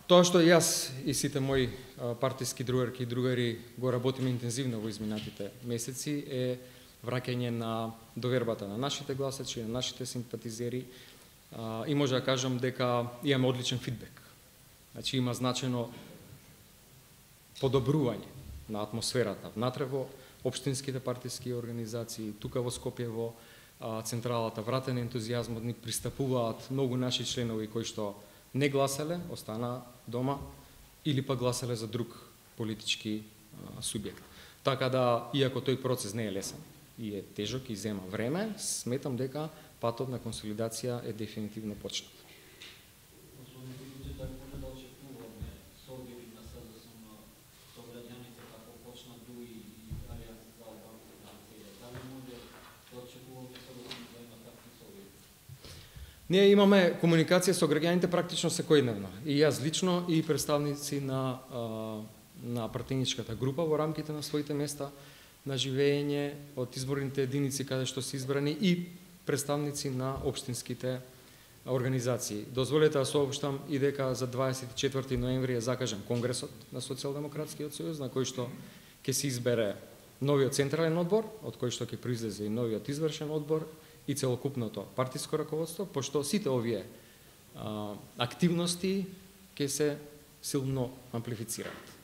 Тоа што јас и сите мои партиски другарки и другари го работиме интензивно во изминатите месеци е враќање на довербата на нашите гласачи, на нашите симпатизери и може да кажам дека имаме одличен фидбек. Значи има значено подобрување на атмосферата внатре во општинските партиски организации, тука во Скопје во централата, вратен ентузијазмот, ни пристапуваат многу наши членови кои што не гласале, остана дома или па гласале за друг политички субјект. Така да, иако тој процес не е лесен и е тежок и зема време, сметам дека патот на консолидација е дефинитивно почнат. Ние имаме комуникација со граѓаните практично секојдневно. И јас лично, и представници на партијничката група во рамките на своите места на живење од изборните единици каде што се избрани и представници на општинските организации. Дозволете да соопштам и дека за 24 ноември е закажан Конгресот на Социјалдемократскиот сојуз, на кој што ќе се избере новиот централен одбор, од кој што ќе произлезе и новиот извршен одбор, и целокупното партиско раководство, пошто сите овие активности ќе се силно амплифицираат.